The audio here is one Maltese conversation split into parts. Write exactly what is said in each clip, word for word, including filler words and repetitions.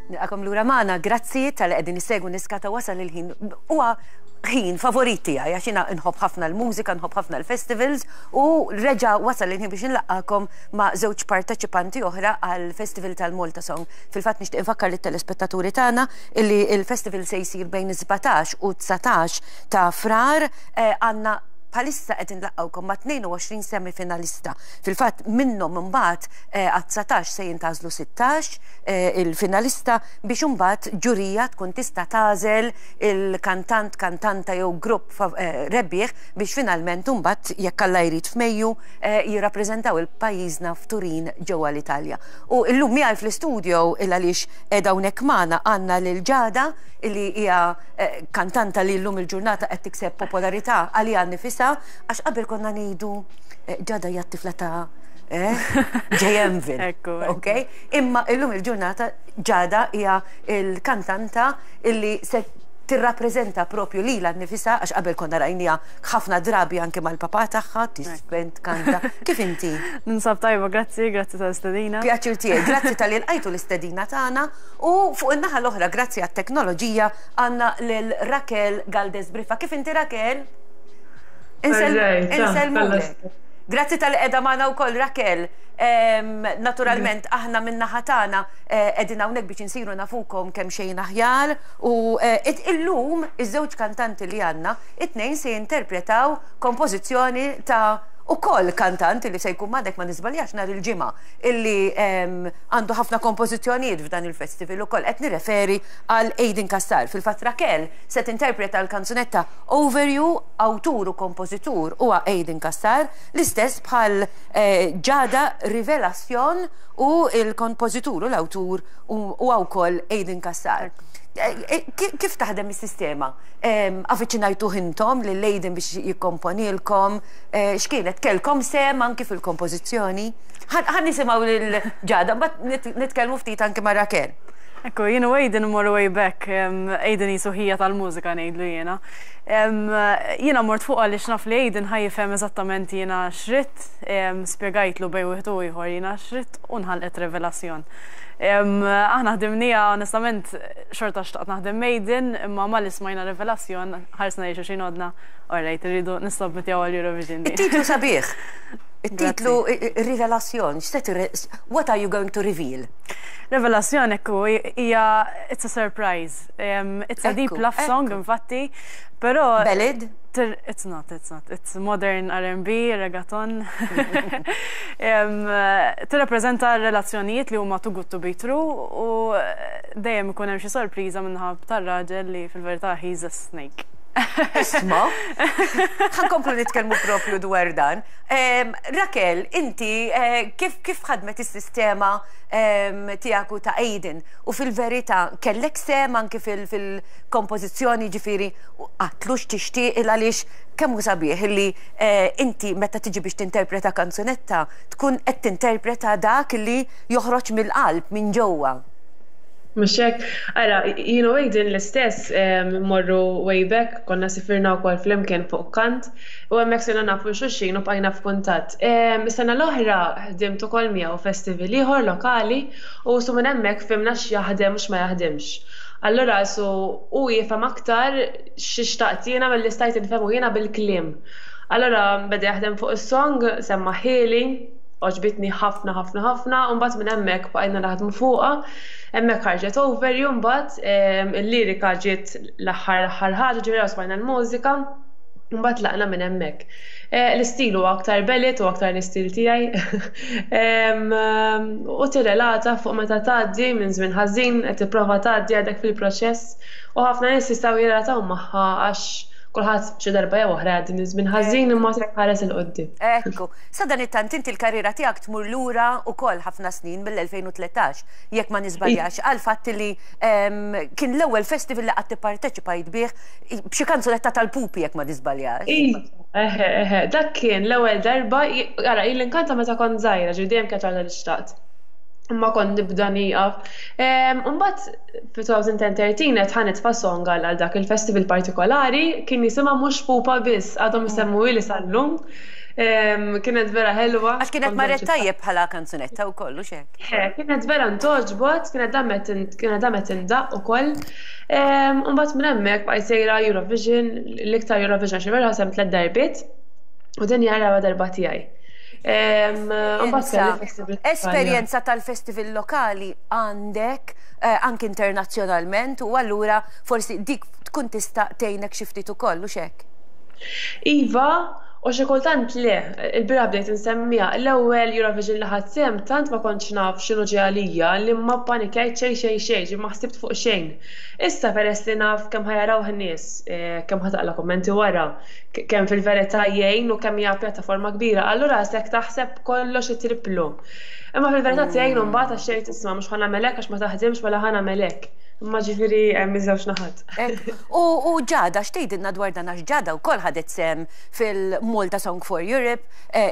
Nilqagħkom lura magħna, grazzi talli qegħdin issegwu Niskata. Wasal il-ħin, huwa ħin favorit tiegħi għax jiena nħobb ħafna l-mużika, nħobb ħafna l-festivals u reġa' wasal il-ħin biex nlaqqagħkom ma' żewġ parteċipanti oħra għal Festival tal-Malta Song. Fil-fatt nixtieq infakkar lit-telespettaturi tagħna illi il-festival se jsir bejn sbatax u dsatax ta' Frar. eh, għandna bħalissa qed inlaqqgħukom ma' tnejn u għoxrin semifinalista. Fil-fatt minnhom imbagħad eh, għat-dsatax se jintgħażlu sittax eh, il-finalista biex imbagħad ġurija tkun tista' tagħżel il-kantant, kantanta jew grupp eh, rebbieħ biex finalment imbagħad, jekk Alla jrid, f'Mejju jirrappreżentaw il-pajjiżna f'Turin ġewwa l-Italja. U illum miegħi fl-istudio, il għaliex qiegħda hawnhekk magħna, għandna lil Ġada, illi hija kantanta li llum il-ġurnata qed tikseb popolarità għaliha nifisha, għax qabel konna ngħidu eh, Ġada hija t-tifla ta' eh, J M. Ok? Imma illum il-ġurnata Ġada hija il-kantanta illi se tirrappreżenta propju lilha nnifisha, għax qabel konna rajnieha ħafna drabi anke mal-papà tagħha tiżfen, tkanta. Kif inti? Ninsab tajba, grazzi, grazzi tal-istedina. Pjaċir tiegħi, grazzi talli lqajtu l-istedina tagħna. U fuq in-naħa l-oħra, grazzi għat-teknoloġija, għandna lil Raquel Galdes Briffa. Kif inti, Raquel? Insellmulek. Grazzi talli qiegħda magħna wkoll, Raquel. Naturalment, aħna min-naħa tagħna eh, qegħdin hawnhekk biex insiru nafukom kemm xejn aħjar u eh, illum iż-żewġ kantanti li għandna, it-tnejn se jinterpretaw kompożizzjoni ta' ukoll kantant li se jkun magħna, ma niżbaljax, nhar il-Ġimgħa, illi għandu ħafna kompożizzjonijiet f'dan il-festival ukoll. Qed nirreferi għal Aiden Cassar. Fil-fatt Raquel se tinterpreta l-kanzunetta Over You, awtur u kompożitur huwa Aiden Cassar, l-istess bħal eh, Ġada, Rivelazzjon, u il-kompożitur u l-awtur huwa wkoll Aiden Cassar. Eh, eh, Kif taħdem is-sistema? Avviċinajtu intom lil Aiden biex jikkomponilkom? X'kienet, kellkom sehem anki fil-kompożizzjoni? Ħa nisimgħu lil Ġada, mbagħad nitkellmu ftit anki ma' Raquel. Ekku, jien u Aiden mmorru way back, Aiden qisu ħija tal-mużika, ngħidlu jiena. Jiena mort fuq għaliex naf li Aiden ħa jifhem eżattament jiena x'ridt, spjegajtlu bejn wieħed u ieħor jiena x'ridt u nħalqet Revelazzjon. Aħna ħdimnieha, onestament xorta xtaqt naħdem Aiden, imma malli smajna Revelazzjon ħarsna lejn xulxin, għedna, "Alright, irridu nissubmitjaw għal Eurovision." It-titlu sabiħ. It-titlu Rivelazzjon, what are you going to reveal? Revelazzjon, ekku, hija, it's a surprise. Um, it's a deep love song, infatti, però Ballad? It's not, it's not. It's modern R and B, reggaeton. um, Tirrappreżenta relazzjonijiet li huma too good to be true u dejjem ikun hemm xi sorpriża min-naħa tar-raġel li fil-verità he's a snake. Isma, ħa nkomplu nitkellmu propju dwar dan. Raquel, inti eh, kif kif ħadmet is-sistema tiegħek u ta' Aiden? U fil-verità kellek sehem anki fil-kompożizzjoni, ġifieri għedtlu x'tixtieq, il għaliex kemm hu sabiħ li eh, inti meta tiġi biex tinterpreta kanzunetta tkun qed tinterpreta dak li joħroġ mill-qalb, minn ġewwa? Mhux hekk, ara, jien u Aiden l-istess morru way back, konna sifirna wkoll flimkien fuq kant, u hemmhekk sirna nafu xulxin u bqajna f'kuntatt. Is-sena l-oħra ħdimt ukoll miegħu festival ieħor lokali u su minn hemmhekk fhimna x'jaħdem u x'ma jaħdimx. Allura su u jifhem aktar x'xtaqt jiena milli stajt nifhemu jiena bil-kliem. Allura beda jaħdem fuq is-song, semmagħhieli, għoġbitni ħafna ħafna ħafna, u mbagħad minn hemmhekk bqajna naħdmu fuqha. Hemmhekk ħarġet Over You. Mbagħad il-lirika ġiet l-aħħar l-aħħar ħaġa, ġifieri smajna l-mużika, mbagħad tlaqna minn hemmhekk. Eh, l-istil huwa aktar ballad u aktar l-istil tiegħi. U tirrelata fuq meta tgħaddi minn żmien ħażin, qed tipprova tgħaddi, għadek fil-proċess, u ħafna nies jistgħu jirrelataw magħha għax kulħadd xi darba jew oħra għaddi minn żmien ħażin, imma se ħares 'il quddiem. Ekku, sadanittant inti l-karriera tiegħek tmur lura ukoll ħafna snin, mill-elfejn u tlettax, jekk ma niżbaljax, għal fatt li kien l-ewwel festival li qatt tipparteċipajt bih b'xi kanzunetta tal-pupi, jekk ma niżbaljax. Eħe, eħe, dak kien l-ewwel darba, ara, ili nkanta meta kont żgħira, ġifieri dejjem kienet għadha li xtaqt. Imma kont nibda nieqaf. Mbagħad fi elfejn u tlettax qed ħa nitfa' song għal dak il-festival partikolari, kien jisimha "Mhux Pupa Biss", għadhom isemmuhieli sal-lum. Kienet vera ħelwa. Għax kienet marret tajjeb bħala kanzunetta u kollu xek. Kienet vera ntogħġbot, kienet damet indaq ukoll. Mbagħad minn hemmhekk bqajt sejra Eurovision, l-iktar Eurovision xi vera sehem tliet darbiet u din hija raba' darba tiegħi. Esperjenza tal-festival lokali għandek anke internazzjonalment u allura forsi dik tkun tista' tgħinek xi ftit ukoll u xek. Iva, u xi kultant le, il-bieraħ bdejt insemmiha, l-ewwel Eurovision li ħadt sehem tant ma kontx naf x'inhu ġej għalija li ma ppanikjajt xejn xejn xejn, ma ħsibt fuq xejn. Issa peress li naf kemm ħa jaraw in-nies, kemm ħa taqla' kummenti wara, kemm fil-verità jgħin u kemm hija pjattaforma kbira, allura sek taħseb kollox it-triplu. Imma fil-verità tgħin u mbagħad għax tgħid isma' mhux ħa nagħmel hekk għax ma taħdimx mela ħa nagħmel hekk. Imma ġifieri hemm iż-żewġ naħat. U Ġada, x'tgħidilna dwar dan għax Ġada wkoll ħadet sehem fil-Malta Song for Europe,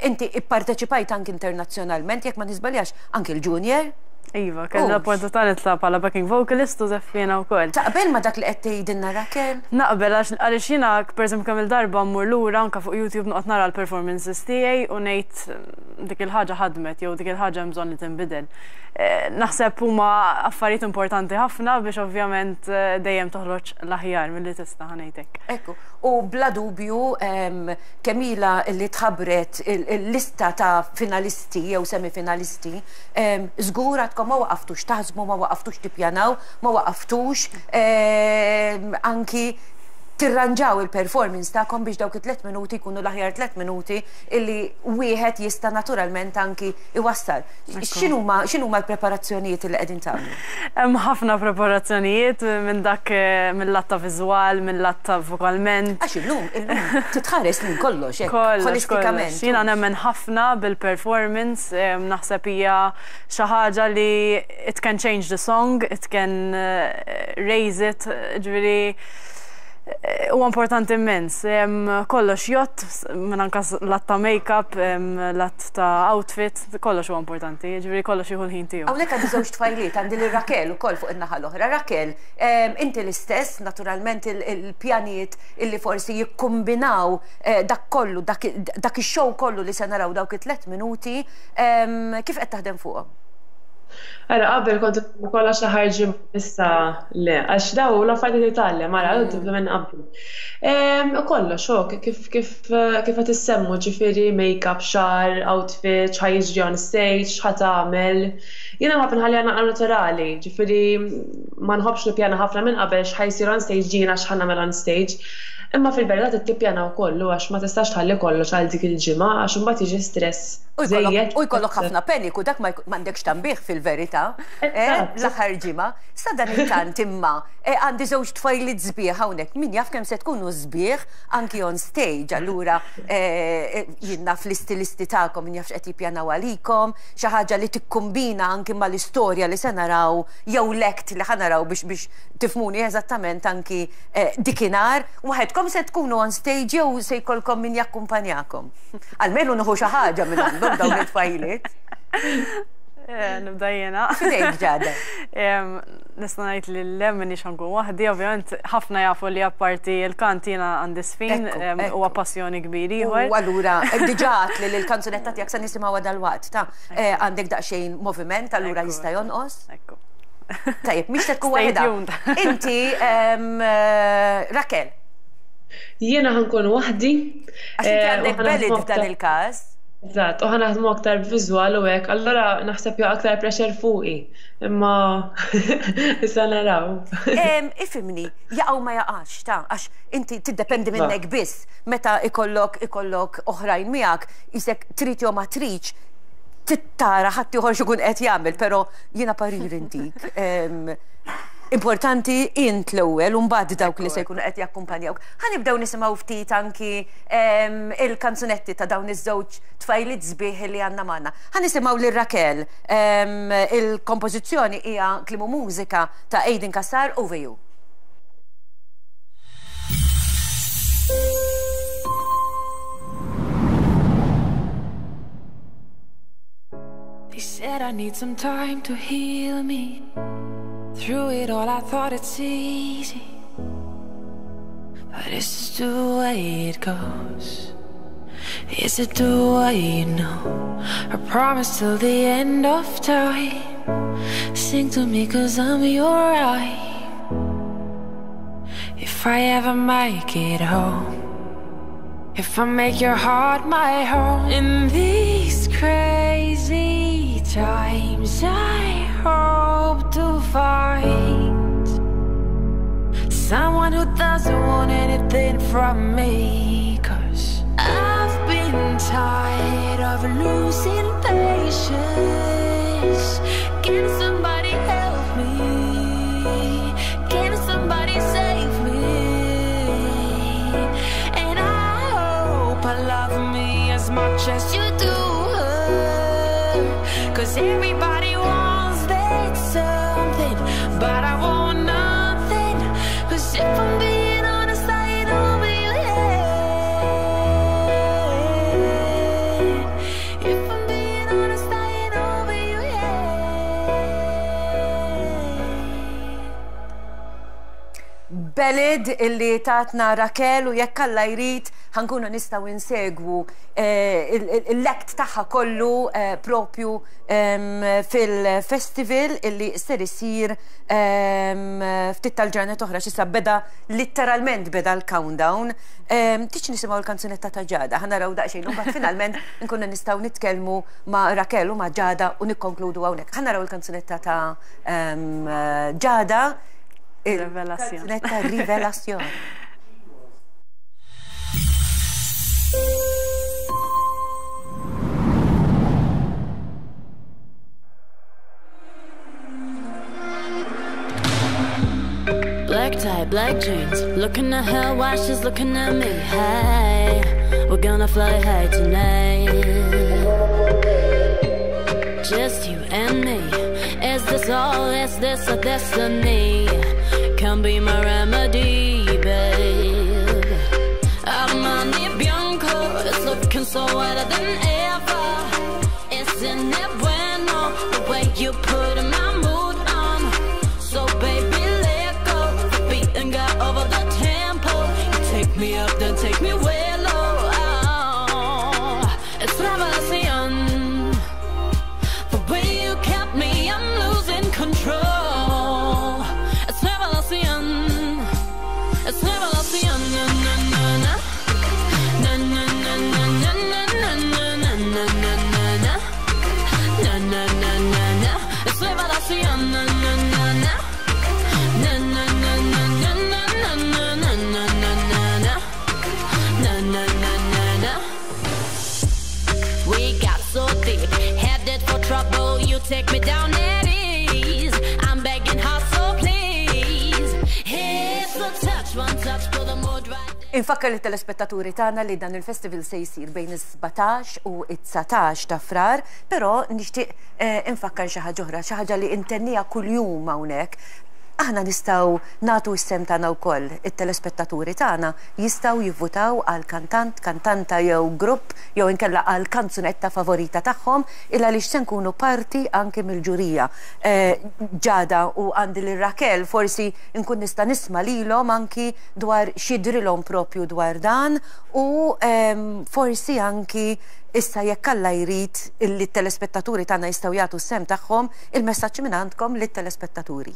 inti ipparteċipajt anke internazzjonalment, jekk ma niżbaljax anke l-Junior. Iva, kelli l-opportunità nitla' bħala backing vocalist u żeffina wkoll. Taqbel ma dak li qed tgħidilna Raquel? Naqbel għaliex jiena pereżempju kemm il-darba mmur lura anke fuq YouTube noqgħod nara l-performances tiegħi u ngħid dik il-ħaġa ħadmet jew dik il-ħaġa hemm bżonn li tinbidel. Naħseb huma affarijiet importanti ħafna biex ovvjament dejjem toħroġ l-aħjar milli tista' ħa ngħidlek. Ekku, u bla dubju kemm ilha li tħabbret il-lista ta' finalisti jew semifinalisti, żgur għadkom ma waqaftux taħsbu, ma waqaftux tippjanaw, ma waqaftux anki tirranġaw il-performance tagħkom biex dawk it-tliet minuti jkunu l-aħjar tliet minuti illi wieħed jista' naturalment anki iwassal. X'inhuma x'inhuma l-preparazzjonijiet li qegħdin tagħmlu? Hemm ħafna preparazzjonijiet minn dak mill-lat ta' viżwal, mill-lat ta' vokalment. Għax illum illum titħares lejn kollox hekk holistikament. Jiena nemmen ħafna bil-performance, naħseb hija xi ħaġa li it can change the song, it can raise it, ġifieri huwa importanti immens. Kollox jgħodd, minn anka lat ta' make-up, lat ta' outfit, kollox huwa importanti, ġifieri kollox jieħu l-ħin tiegħu. Hawnhekk għandi żewġ tfajliet, għandi lil Raquel ukoll fuq in-naħa l-oħra. Raquel, inti l-istess, naturalment il-pjanijiet illi forsi jikkombinaw dak kollu, dak ix-show kollu li se naraw dawk it-tliet minuti, kif qed taħdem fuqhom? Ara, qabel kont kollox l-aħħar ġimgħa, issa le, għax daw l-affarijiet li titgħallem, ara, tibda minn qabel. Kollox, oh, kif kif kif qed issemmu, ġifieri make-up, xagħar, outfit, x'ħa jiġri on stage, x'ħa tagħmel. Jiena nħobb nħalliha naqra naturali, ġifieri ma nħobbx nippjana ħafna minn qabel x'ħa jsir on stage, jiena x'ħa nagħmel on stage. Imma fil-verità tippjana wkoll għax ma tistax tħalli kollox għal dik il-ġimgħa għax imbagħad jiġi stress. U jkollok ħafna paniku, dak m'għandekx tambih fil-verità, l-aħħar ġimgħa. Sa dan it-tant imma għandi żewġ tfajliet sbieħ hawnhekk, min jaf kemm se tkunu sbieħ anki on stage, allura jien naf l-istilisti tagħkom, min jaf x'qed jippjanaw għalikom, xi ħaġa li tikkombina anki mal-istorja li se naraw jew l-act li ħa naraw biex biex tifhmuni eżattament anki dikinhar, waħedkom se tkunu on stage jew se jkollkom min jakkumpanjakom. Almenu nieħu xi ħaġa minn għandhom dawn it-tfajliet. Nibda jiena. Fidejk Ġada. Nista' ngħid li le m'iniex ħa nkun waħdi, ovvjament ħafna jafu li apparti l-kant jiena għandi żfin huwa passjoni kbir ieħor. U allura diġà li l-kanzunetta tiegħek se nisimgħuha dalwaqt ta' għandek daqsxejn moviment, allura jista' jonqos. Ekku. Tajjeb, mhix se tkun waħedha. Inti Raquel. Jiena ħa nkun waħdi. Għax inti għandek ballet f'dan il-każ. Eżatt, u ħa naħdmu aktar viżwal u hekk, allura naħseb jaqa' aktar pressure fuqi. Imma issa naraw. Ifhimni, jaqgħu ma jaqax, ta' għax inti tiddependi minnek biss meta ikollok ikollok oħrajn miegħek, isek trid jew ma tridx, tittara ħadd ieħor x'ikun qed jagħmel, però jiena parir intik. Importanti int l-ewwel u mbagħad dawk li se jkunu qed jakkumpanjawk. Ħa nibdew nisimgħu ftit anki il-kanzunetti ta' dawn iż-żewġ tfajliet sbieħ li għandna magħna. Ħa nisimgħu lil Raquel, il-kompożizzjoni hija kliem u mużika ta' Aiden Cassar, Over You. They said I need some time to heal me. Through it all I thought it's easy, but this is the way it goes. Is it the way you know? I promise till the end of time. Sing to me cause I'm your eye. If I ever make it home, if I make your heart my home. In these crazy times I hope to find someone who doesn't want anything from me. Cause I've been tired of losing patience. Can somebody help me? Can somebody save me? And I hope I love me as much as you do her. Cause everybody wants that something, but I want nothing. Cause if I'm being honest, I ain't over you yet. If I'm being honest, I ain't over you yet. Ballad illi tatna Raquel u jekk Alla jrid ħa nkunu nistgħu insegwu l-act tagħha kollu propju fil-festival illi ser isir ftit tal-ġranet oħra x'issa beda literalment beda l-countdown. Tiċ nisimgħu l-kanzunetta ta' Ġada, ħa naraw daqsxejn u mbagħad finalment nkunu nistgħu nitkellmu ma' Raquel u ma' Ġada u nikkonkludu hawnhekk. Ħa naraw il-kanzunetta ta' Ġada. Rivelazzjon. Kanzunetta Rivelazzjon. Black tie, black jeans, looking at her while she's looking at me. Hey, we're gonna fly high tonight. Just you and me. Is this all? Is this a destiny? Come be my remedy, babe. Armani Bianco is looking so whiter than ever. Isn't it bueno the way you put my mood on? So baby, let go. The beat and got over the tempo. You take me up, then take me way low. Oh, it's revelación. The way you kept me, I'm losing control. It's revelación. It's revelación. Na na na na. Na na na na na na na na na na na na. Na na na na na. It's revelación. Na na na na. Na na na na na na na na na na na na na. Na na na na na. We got so deep, headed for trouble. You take me down at ease. I'm begging hard, so please. It's the touch, one touch, put the mood right. Infakkar lit-telespettaturi tagħna li dan il-festival se jsir bejn is-sbatax u it-dsatax ta' Frar, però nixtieq infakkar xi ħaġa oħra, xi ħaġa li intennija kuljum hawnhekk. Aħna nistgħu nagħtu s-sem tagħna wkoll, it-telespettaturi tagħna jistgħu jivvutaw għal kantant, kantanta jew grupp jew inkella għal kanzunetta favorita tagħhom illa għaliex se nkunu parti anke mill-ġurija. Ġada u għandi lil Raquel forsi nkun nista' nisma' lilhom anki dwar x'jidrilhom propju dwar dan u forsi anki issa jekk Alla jrid illi t-telespettaturi tagħna jistgħu jagħtu s-sem tagħhom il-messaġġ minn għandkom lit-telespettaturi.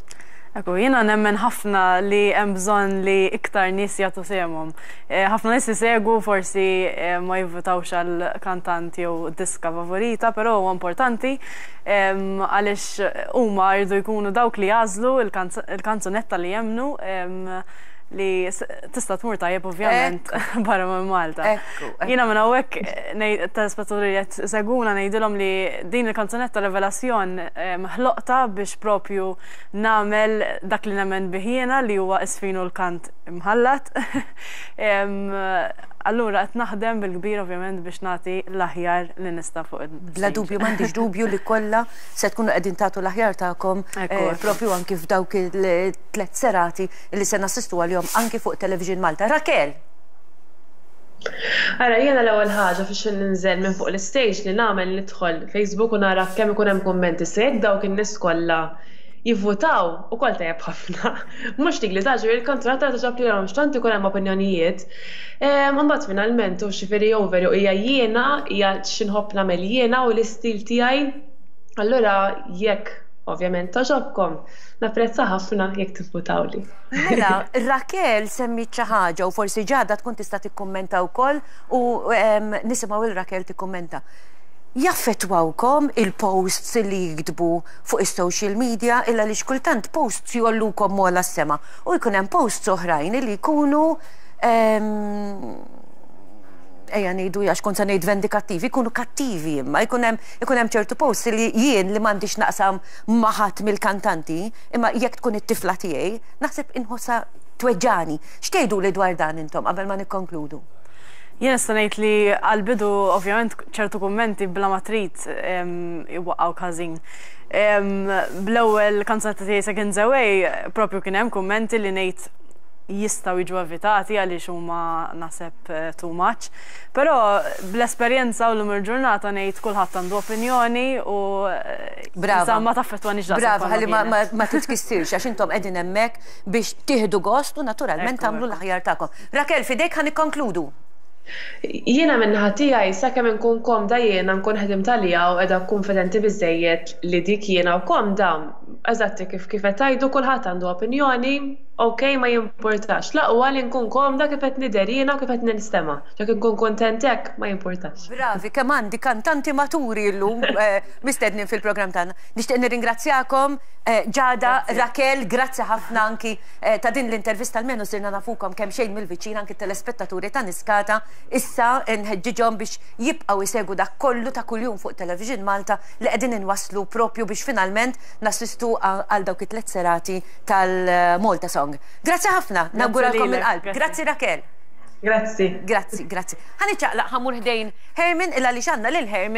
Ekku, jiena nemmen ħafna li hemm bżonn li iktar nies jagħtu sehemhom. Ħafna nies isegwu forsi ma jivvutawx għal kantant jew diska favorita, però huwa importanti għaliex huma jridu jkunu dawk li jagħżlu il-kanzunetta li jemmnu li tista' tmur tajjeb ovvjament barra minn Malta. Jiena minn hawnhekk telespettaturi li qed seguna ngħidilhom li din il-kanzunetta Revelazzjon ħloqta biex propju nagħmel dak li nemmen bih jiena li huwa isfinu l-kant imħallat. Allura qed naħdem bil-kbir ovvjament biex nagħti l-aħjar li nista' fuq il- Bla dubju m'għandix dubju li kollha se tkunu qegħdin tagħtu l-aħjar tagħkom propju anki f'dawk il-tliet serati li se nassistu għalihom anki fuq Television Malta. Raquel! Ara, jiena l-ewwel ħaġa fiex ninżel minn fuq l-stage li nagħmel nidħol Facebook u nara kemm ikun hemm kummenti se jekk dawk in-nies kollha Jivvutaw ukoll tajjeb ħafna. Mhux dik li tagħġeb il-kanzunetta tagħġeb lilhom, x'tant ikun hemm opinjonijiet. Imbagħad finalment u xifieri over hija jiena, hija x'inħobb nagħmel jiena u l-istil tiegħi. Allura jekk ovvjament togħġobkom, napprezza ħafna jekk tivvutawli. Mela, Raquel semmit xi ħaġa u forsi Ġada tkun tista' tikkummenta wkoll u nisimgħu il Raquel tikkummenta. Jaffettwawkom il-posts li jiktbu fuq is-social media, illa li xkultant posts jgħollukom m'ogħla s-sema u jkun hemm posts oħrajn li jkunu, ejja ngħidu, għax kont se ngħid vendikattivi, jkunu kattivi, imma jkun hemm ikun hemm ċertu posts li jien li m'għandix naqsam ma' ħadd mill-kantanti, imma jekk tkun it-tifla tiegħi, naħseb inħossha tweġġani. X'tgħidu li dwar dan intom qabel ma nikkonkludu? Jien nista' ngħid li għall-bidu ovvjament ċertu kummenti bla ma trid iwaqqgħu każin. Bl-ewwel kanzunetta tiegħi, Seconds Away, propju kien hemm kummenti li ngħid jistgħu jiġu evitati għaliex huma naħseb eh, too much. Però bl-esperjenza u l-lum il-ġurnata ngħid kulħadd għandu opinjoni u eh, Brava. ma taffettwanix daqshekk Brava, bħalma ħalli ma, ma, kienet. ma titkissirx, għax intom qegħdin hemmhekk biex tieħdu gost u naturalment Ekku, tagħmlu ekku. l-aħjar tagħkom. Raquel, fidejk ħa nikkonkludu. Jiena min-naħa tiegħi, sakemm inkun komda jiena, nkun ħedimt għalija u qiegħda konfidenti biżejjed li dik jiena u komda, eżatti kif kif qed tgħidu, kulħadd għandu opinjoni, ok, ma jimportax. L-aqwa li nkun komda kif qed nidher jiena u kif qed ninstema'. Jekk inkun kontent hekk, ma jimportax. Bravi, kemm għandi kantanti maturi llum eh, mistednin fil-programm tagħna. Nixtieq nirringrazzjakom, eh, Ġada, Raquel, grazzi ħafna anki eh, ta' din l-intervista, almenu sirna nafukom kemm xejn mill-viċin anki telespettaturi ta' Niskata. Issa nħeġġiġhom biex jibqgħu jsegwu dak kollu ta' kuljum fuq Television Malta li qegħdin inwasslu propju biex finalment nassistu għal dawk it-tliet serati tal-Malta Song. Grazzi ħafna, nawguralkom lilek, mill-qalb. grazzi. Grazzi, Raquel. Grazzi. Grazzi, grazzi. Ħa niċċaqlaq, ħa mmur ħdejn Herman illa li xanna lil Herman.